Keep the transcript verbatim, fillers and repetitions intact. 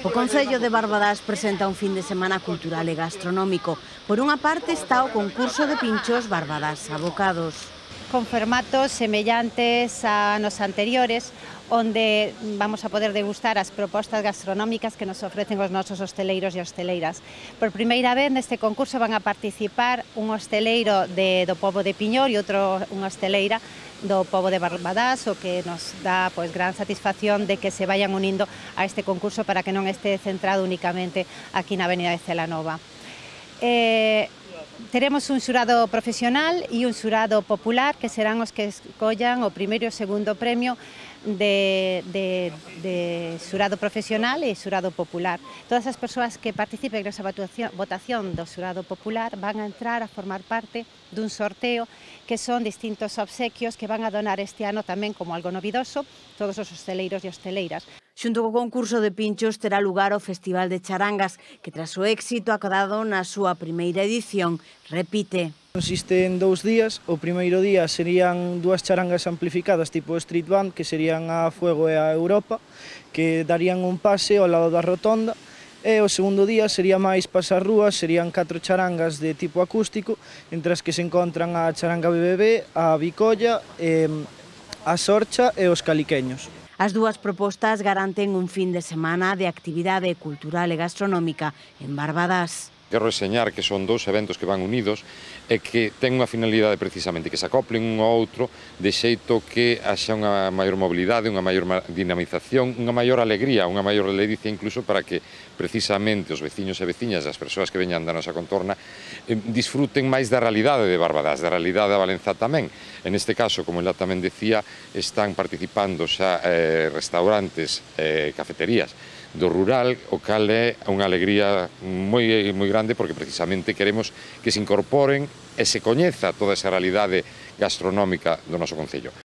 O Concello de Barbadás presenta un fin de semana cultural e gastronómico. Por unha parte está o concurso de pinchos Barbadás Abocados. Con formatos semellantes a anos anteriores, onde vamos a poder degustar as propostas gastronómicas que nos ofrecen os nosos hosteleiros e hosteleiras. Por primeira vez neste concurso van a participar un hosteleiro de, do pobo de Piñor e outro unha hosteleira do pobo de Barbadás, o que nos dá pois, gran satisfacción de que se vayan unindo a este concurso para que non este centrado únicamente aquí na Avenida de Celanova. Eh, Teremos un xurado profesional e un xurado popular que serán os que escollan o primeiro e o segundo premio de, de, de xurado profesional e xurado popular. Todas as persoas que participen nesa votación do xurado popular van a entrar a formar parte dun sorteo que son distintos obsequios que van a donar este ano tamén como algo novidoso todos os hosteleiros e hosteleiras. Xunto co concurso de pinchos terá lugar o Festival de Charangas, que tras o éxito acadado na súa primeira edición, repite. Consiste en dous días. O primeiro día serían dúas charangas amplificadas tipo street band, que serían a Fuego e a Europa, que darían un pase ao lado da rotonda. E o segundo día sería máis pasar rúas, serían catro charangas de tipo acústico, entre as que se encontran a charanga B B B, a Bicolla, eh, a Sorcha e os Caliqueños. As dúas propostas garanten un fin de semana de actividade cultural e gastronómica en Barbadás. Quero reseñar que son dous eventos que van unidos e que ten unha finalidade precisamente que se acoplen un ao outro de xeito que haxa unha maior mobilidade, unha maior dinamización, unha maior alegría, unha maior ledicia incluso para que precisamente os veciños e veciñas, as persoas que veñan da nosa contorna, eh, disfruten máis da realidade de Barbadás, da realidade da Valenzá tamén. En este caso, como ela tamén decía, están participando xa eh, restaurantes e eh, cafeterías do rural, o cal é unha alegría moi, moi grande porque precisamente queremos que se incorporen e se coñeza toda esa realidade gastronómica do noso concello.